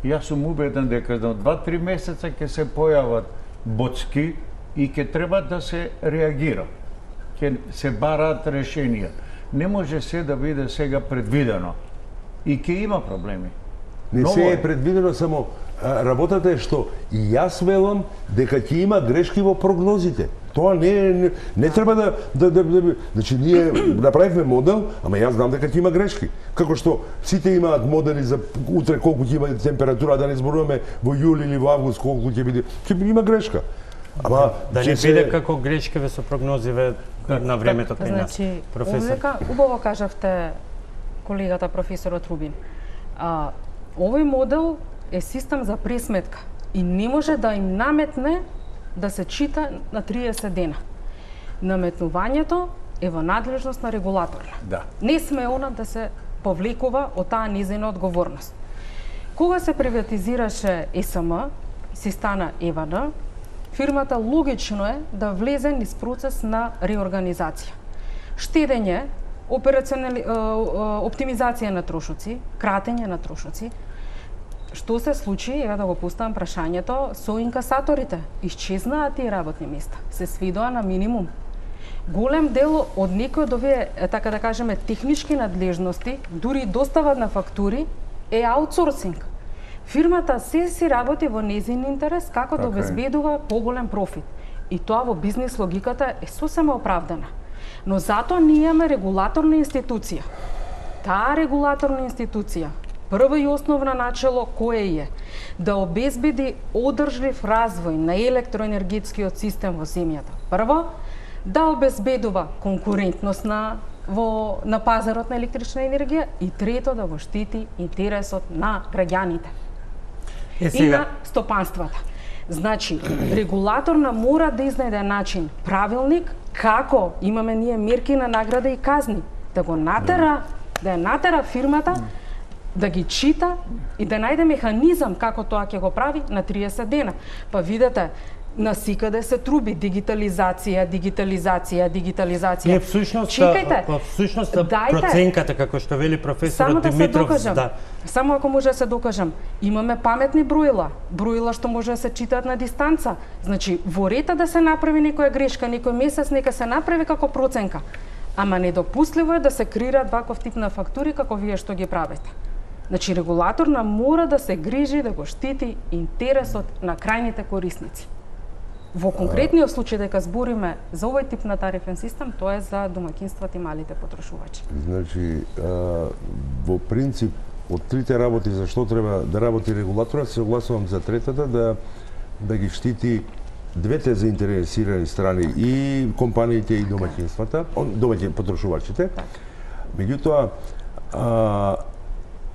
Јас сум убеден дека за два-три месеца ќе се појават боцки и ќе треба да се реагира. Ќе се бараат решенија. Не може се да биде сега предвидено. И ќе има проблеми. Не се е предвидено, само а, работата е што и јас велам дека ќе има грешки во прогнозите. Тоа не не, не треба да да да, да значи ние направивме модел, ама јас знам дека ќе има грешки. Како што сите имаат модели за утре колку ќе има температура, да не зборуваме во јули или во август колку ќе биде. Ќе има грешка. Ама да не биде се... како грешкиве со прогнозиве на времето кај нас. Значи, професор. Убаво кажавте колегата професорот Рубин. А, овој модел е систем за пресметка и не може да им наметне да се чита на триесет дена. Наметнувањето е во надлежност на регулаторна. Да. Не сме она да се повлекува од таа низина одговорност. Кога се приватизираше Е С М, си стана Е В Н, фирмата логично е да влезе низ процес на реорганизација. штедење, операционали... оптимизација на трошоци, кратење на трошоци. Што се случи, еве да го поставам прашањето, со инкасаторите? Исчезнаа тие работни места, се сведоа на минимум. Голем дел од некои од овие, така да кажеме, технички надлежности, дури достава на фактури, е аутсорсинг. Фирмата се си работи во незин интерес како да обезбедува поголем профит. И тоа во бизнес логиката е сосема оправдана. Но затоа ние имаме регулаторна институција. Таа регулаторна институција, прво и основно начело кое е? Да обезбеди одржлив развој на електроенергетскиот систем во земјата. Прво, да обезбедува конкурентност на во на пазарот на електрична енергија и трето да го штити интересот на граѓаните е, и на стопанствата. Значи, регулаторна мора да изнајде начин, правилник како имаме ние мерки на награда и казни, да го натера, да ја натера фирмата да ги чита и да најде механизам како тоа ќе го прави на триесет дена. Па видете, насикаде се труби дигитализација, дигитализација, дигитализација. Не, всушност, чекајте. Всушност проценката како што вели професорот да Димитров, да. Само ако може да се докажам, имаме паметни броила, броила што може да се читаат на дистанца. Значи, во рета да се направи некоја грешка, некој месец нека се направи како проценка. Ама недопустливо е да се креираат ваков тип на фактури како вие што ги правите. Значи, регулаторна мора да се грижи да го штити интересот на крајните корисници. Во конкретниот случај дека збориме за овој тип на тарифен систем, тоа е за домаќинствата и малите потрошувачи. Значи, а, во принцип, од трите работи за што треба да работи регулаторот, се согласувам за третата, да, да ги штити двете заинтересирани страни, и компаниите и домаќинствата, домаќин потрошувачите. Меѓутоа, а,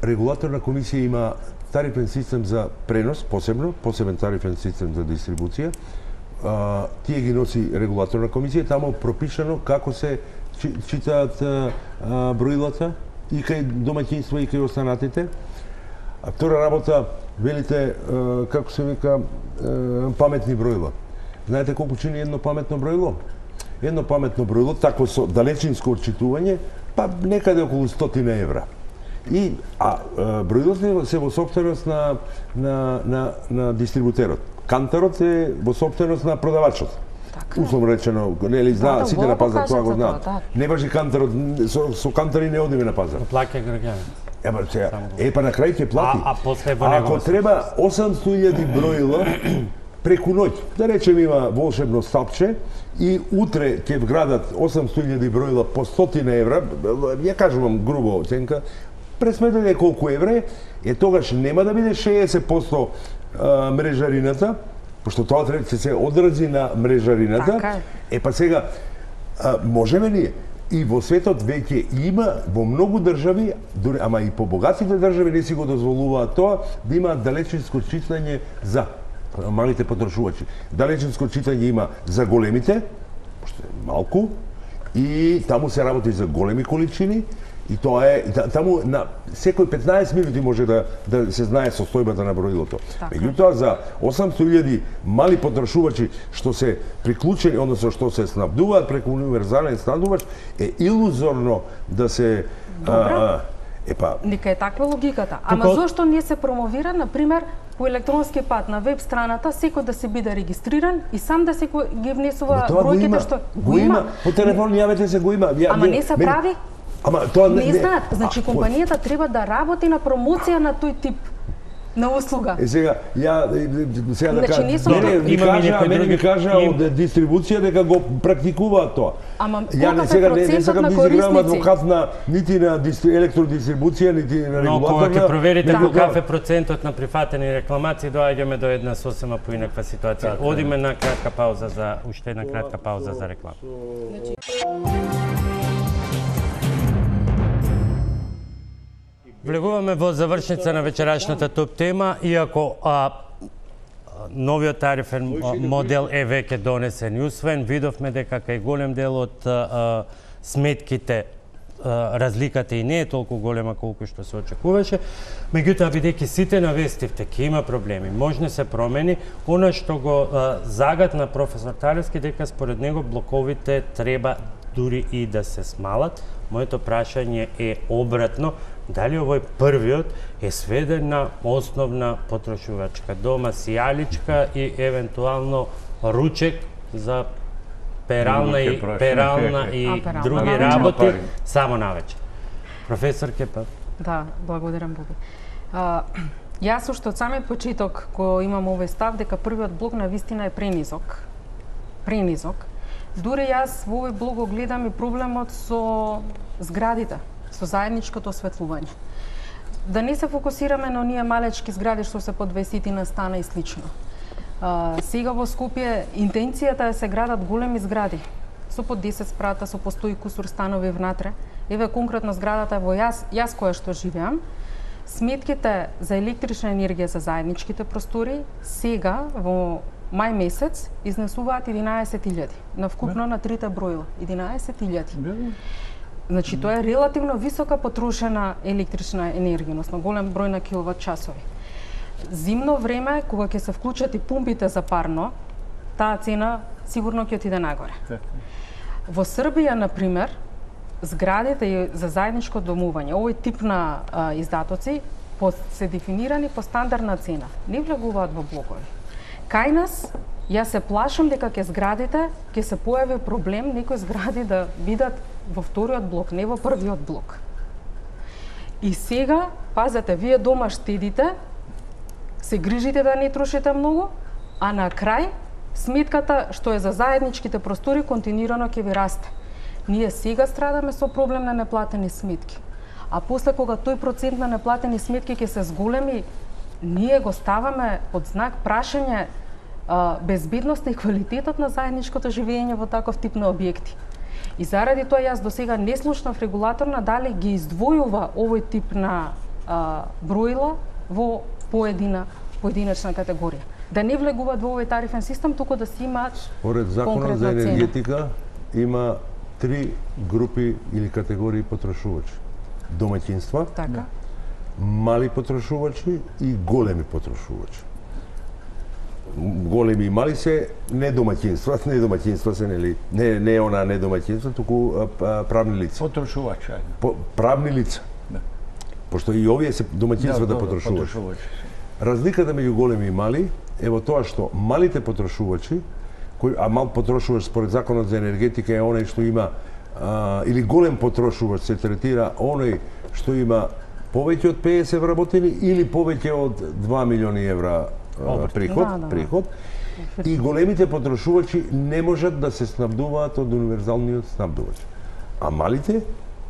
регулаторна комисија има тарифен систем за пренос, посебно, посебен тарифен систем за дистрибуција. Uh, тие ги носи регулаторна комисија, таму пропишано како се чи, читаат uh, uh, броилата и кај домаќинства и кај останатите. А втора работа, велите, uh, како се вика, uh, паметни броила. Знаете колку чини едно паметно броило? Едно паметно броило, такво со далечинско отчитување, па некаде околу стотина евра. И, а uh, броилото се во собственост на, на, на, на дистрибутерот. Канторот е во собственост на продавачот. Така. Условно речено, нели знаат, да, сите на пазар тоа го знаат. Да. Не важи канторот, со, со кантори не одиме на пазар. Плаќа граѓанин. Ема сега, е па на крај ќе плати. А, а после во него. Ако треба осемстотини илјади броила преку ноќ, да речем има волшебно стапче и утре ќе вградат осемстотини илјади броила по стотина евра, ја кажувам грубо оценка, пресметете колку евра е, тогаш нема да биде шеесет проценти мрежарината, пошто тоа треба да се одрази на мрежарината. Така е. Е па сега, а, можеме ли? И во светот веќе има во многу држави, ама и по богатите држави не си го дозволуваат тоа, да има далечинско читање за малите потрошувачи. Далечинско читање има за големите, пошто е малку, и таму се работи за големи количини. И тоа е, таму на секој петнаесет минути може да, да се знае состојбата на броилото. Меѓутоа, за осемстотини илјади мали потрошувачи што се приклучени, односно што се снабдуваат преку универзален снабдувач, е илузорно да се... Добра, епа... нека е таква логиката. Ама Туко... зошто не се промовира, например, по електронски пат на веб страната, секој да се биде регистриран и сам да се ги внесува бројките што... Го има, по телефон јавете се, го има. Ама не се прави? Ама тоа не, не знаат, значи компанијата треба да работи на промоција на тој тип на услуга. Е сега ја сега да кажам, значи, не, ми кажа, мене ми кажа од дистрибуција дека го практикуваат тоа. Ама ја не сега не, не сакам да изигравам адвокат на нити на електродистрибуција, нити на регулаторна. Но кога ќе проверите каков е процентот на прифатени рекламации, доаѓаме до една сосема поинаква ситуација. Одиме на кратка пауза за уште една кратка пауза за реклама. Значи влегуваме во завршница на вечерашната топ тема, иако а, новиот тарифен модел е веќе донесен и усвоен, видовме дека кај голем дел од а, сметките а, разликата и не е толку голема колку што се очекуваше. Меѓутоа, бидејќи сите навестивте, ќе има проблеми, може се промени, она што го а, загатна професор Талевски дека според него блоковите треба дури и да се смалат. Моето прашање е обратно, дали овој првиот е сведен на основна потрошувачка дома, сијаличка и евентуално ручек за перална и перална и А, перална, други навечер. работи Пари. само навечер. Професор Кепа. Да, благодарам Боби. А, јас уште од самиот почеток кој имам овој став дека првиот блок на вистина е пренизок. Пренизок. Дури јас во овој блок го гледам и проблемот со зградите, со заедничкото осветлување. Да не се фокусираме на оние малечки згради што се по дваесет стана и слично. А, сега во Скопје интенцијата е се градат големи згради со по десет спрата, со по сто и кусур станови внатре. Еве конкретно зградата во јас, јас која што живеам, сметките за електрична енергија за заедничките простори сега во мај месец изнесуваат единаесет илјади на вкупно на трите броила. единаесет илјади. Значи тоа е релативно висока потрошена електрична енергија, односно голем број на киловат часови. Зимно време, кога ќе се вклучат и пумпите за парно, таа цена сигурно ќе отиде нагоре. Во Србија, на пример, зградите за заедничко домување, овој тип на а, издатоци по, се дефинирани по стандардна цена. Не влегуваат во блокови. Кај нас, јас се плашам дека ке зградите ќе се појави проблем некои згради да бидат во вториот блок, не во првиот блок. И сега, пазете, вие дома штедите, се грижите да не трошите многу, а на крај сметката што е за заедничките простори континуирано ќе ви расте. Ние сега страдаме со проблем на неплатени сметки. А после кога тој процент на неплатени сметки ќе се зголеми, ние го ставаме под знак прашање а, безбедноста и квалитетот на заедничкото живење во таков тип на објекти. И заради тоа јас досега не слушнав регулаторна дали ги издвојува овој тип на а, броила во поедина поединечна категорија. Да не влегуваат во овој тарифен систем, туку да си имаат Поред законот за конкретна цена. енергетика има три групи или категории потрошувачи. Домаќинства, Така. мали потрошувачи и големи потрошувачи. Големи и мали се не домаќинства, не домаќинства се нели, не не она не домаќинства, туку а, а, правни лица. Потрошувач, ајде. По, правни лица. Да. Пошто и овие се домаќинства да, добро, потрошувачи. потрошувач. Разликата меѓу големи и мали е во тоа што малите потрошувачи, кој, а мал потрошувач според законот за енергетика е оној што има а, или голем потрошувач се третира оној што има повеќе од педесет вработени или повеќе од два милиони евра а, приход, Да, да, да. приход. И големите потрошувачи не можат да се снабдуваат од универзалниот снабдувач. А малите,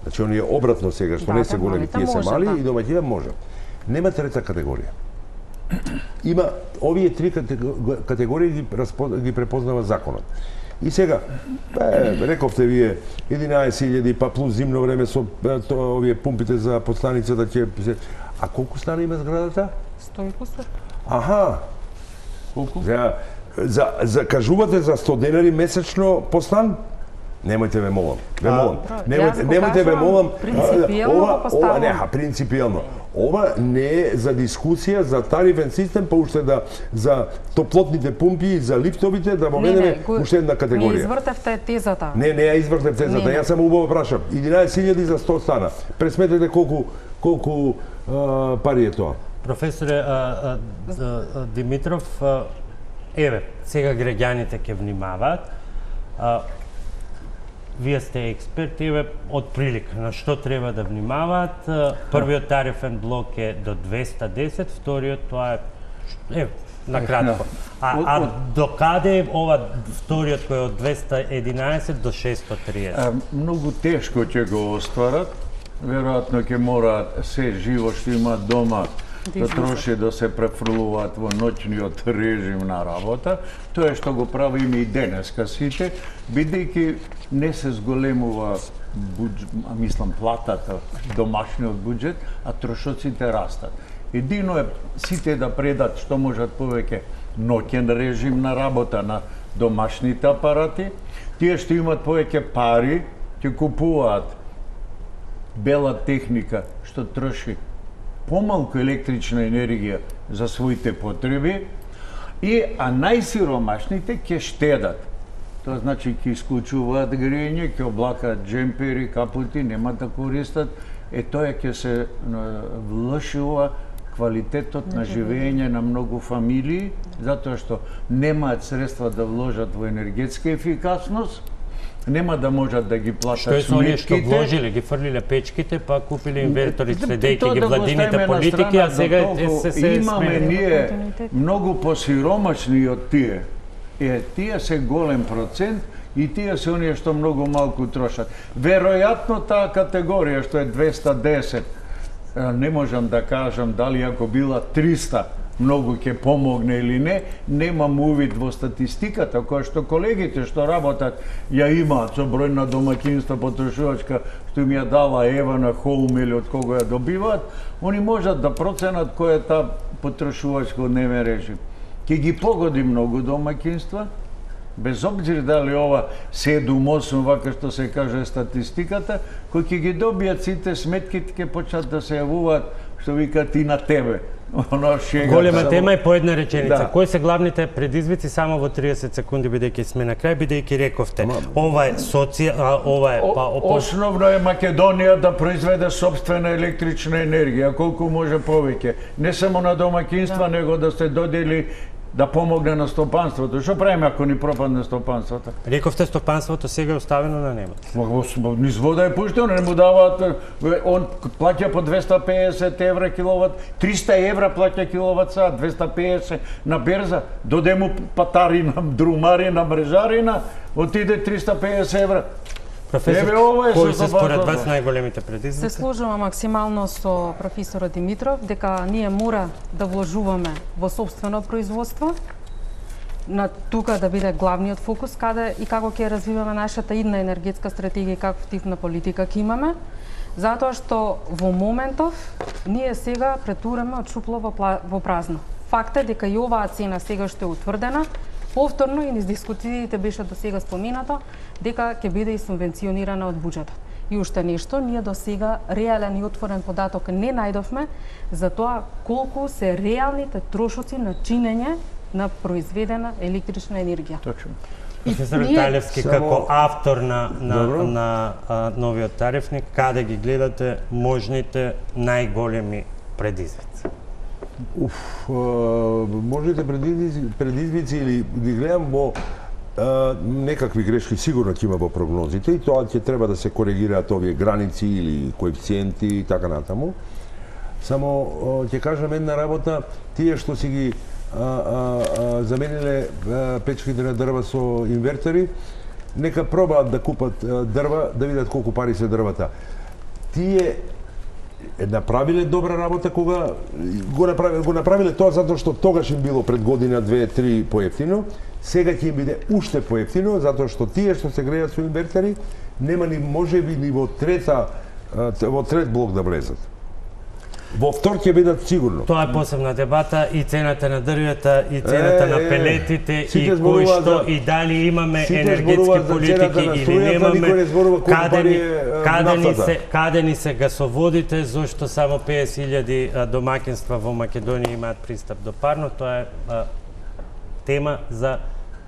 значи оние обратно сега што Да, не се да, големи, малите тие се може, мали да. и домаќина можат. Нема трета категорија. Има овие три категории ги, ги препознава законот. И сега, е, рековте вие единаесет илјади па плюс зимно време со то, овие пумпите за подстаницата ќе се... А колку стана има зградата? сто и кусур. Аха. Колку? За, за, за кажувате за сто денари месечно по стан? Немојте ве молам. Ве молам. Јас Немојте, го немојте ве кажувам молам. принципиелно ова, го ова поставувам. не, а принципиелно. Ова не е за дискусија за тарифен систем, па уште да за топлотните пумпи и за лифтовите да воведеме уште една Не категорија. извртевте тезата. Не, не ја извртев тезата, Не, не. јас само убаво прашам. единаесет илјади за сто стана. Пресметете колку колку а, пари е тоа. Професоре а, а, а, а, Димитров, а, еве, сега граѓаните ќе внимаваат. А, Вие сте експерти, еве, од прилика, на што треба да внимаваат. А, Првиот тарифен блок е до двеста десет, вториот тоа е, еве, на кратко. А, а до каде е ова вториот кој е од двеста единаесет до шестоста триесет? А, многу тешко ќе го остварат. Веројатно ќе мораат се живо што има дома да троши да се префрлуваат во ноќниот режим на работа. Тоа е што го правиме и денеска сите, бидејќи не се зголемува буџ... а мислам платата, домашниот буџет, а трошоците растат. Едино е сите да предат што можат повеќе ноќен режим на работа на домашните апарати. Тие што имат повеќе пари ќе купуваат бела техника што троши помалку електрична енергија за своите потреби, и а најсиромашните ќе штедат. Тоа значи ќе исклучуваат грење, ќе облакаат джемпери, капути, нема да користат. Е тоа ќе се влошува квалитетот на живење на многу фамилии, затоа што немаат средства да вложат во енергетска ефикасност, нема да можат да ги платат сметките. Што е оние што вложиле, ги фрлиле печките, па купиле инвертори следејќи ги владините политики, а сега се се имаме ние многу посиромашни од тие. Е, тие се голем процент и тие се оние што многу малку трошат. Веројатно таа категорија што е двеста десет, не можам да кажам дали ако била триста многу ќе помогне или не, немам увид во статистиката, која што колегите што работат ја имаат со број на домаќинства потрошувачка што им ја дала Ева на Хоум или од кого ја добиваат, они можат да проценат кој е таа потрошувачка одневен режим. Ќе ги погоди многу домаќинства, без обзир дали ова седум осум, вака што се каже статистиката, кои ќе ги добијат сите сметките, ќе почнат да се јавуваат, што викаат и на тебе. Голема тема е по една реченица. Да. Кои се главните предизвици само во триесет секунди, бидејќи сме на крај, бидејќи рековте. Ова е соција, ова е па опо... Основно е Македонија да произведе собствена електрична енергија, колку може повеќе. Не само на домаќинства, да, него да се додели да помогне на стопанството. Што правиме ако ни пропадне стопанството? Рековте стопанството сега е оставено на небото. Низ вода е пуштено, не му даваат, он плаќа по двеста педесет евра киловат, триста евра плаќа киловат сат, двеста педесет на берза, доде му патарина, друмарина, мрежарина, отиде триста педесет евра. Професор, кои се според вас најголемите предизвици? Се сложувам максимално со професорот Димитров дека ние мора да вложуваме во собствено производство, на тука да биде главниот фокус каде и како ќе развиваме нашата идна енергетска стратегија и каков тип на политика ќе имаме, затоа што во моментов ние сега претураме од шупло во празно. Факт е дека и оваа цена сега што е утврдена, повторно и низ дискусиите беше до сега споминато дека ќе биде и субвенционирана од буџетот. И уште нешто, ние до сега реален и отворен податок не најдовме за тоа колку се реалните трошоци на чинење на произведена електрична енергија. Точно. Професор Талевски, само... како автор на, на, на а, новиот тарифник, каде ги гледате можните најголеми предизвици? Уф, можете предизвици, предизвици или ги гледам во а, некакви грешки сигурно ќе има во прогнозите и тоа ќе треба да се коригираат овие граници или коефициенти и така натаму. Само ќе кажам една работа, тие што си ги а, а, а, замениле а, печките на дрва со инвертери, нека пробаат да купат а, дрва, да видат колку пари се дрвата. Тие направиле добра работа кога го направиле, го направиле тоа затоа што тогаш им било пред година, две, три поевтино, сега ќе им биде уште поевтино затоа што тие што се грејат со инвертери нема ни можеби ни во трета во трет блок да влезат. Во втор ќе бидат сигурно. Тоа е посебна дебата и цената на дрвета и цената е, на пелетите е, и кои што за, и дали имаме енергетски политики или немаме, каде ни, каде ни се каде ни се гасоводите, зошто само песет илјади домаќинства во Македонија имаат пристап до парно, тоа е а, тема за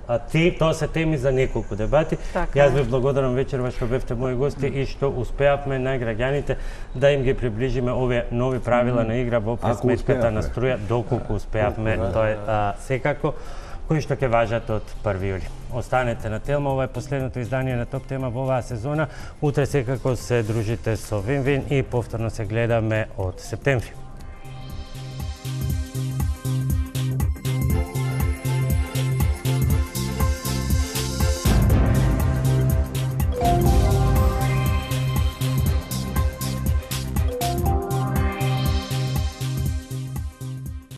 А ти, тоа се теми за неколку дебати. Така. Јас ви благодарам вечерва што бевте мои гости и што успеавме на граѓаните да им ги приближиме овие нови правила на игра во пресметката на струја, доколку успеавме, тоа е а, секако, кои што ќе важат од први јули. Останете на Телма, ова е последното издание на Топ Тема во оваа сезона. Утре секако се дружите со Вин Вин и повторно се гледаме од септември.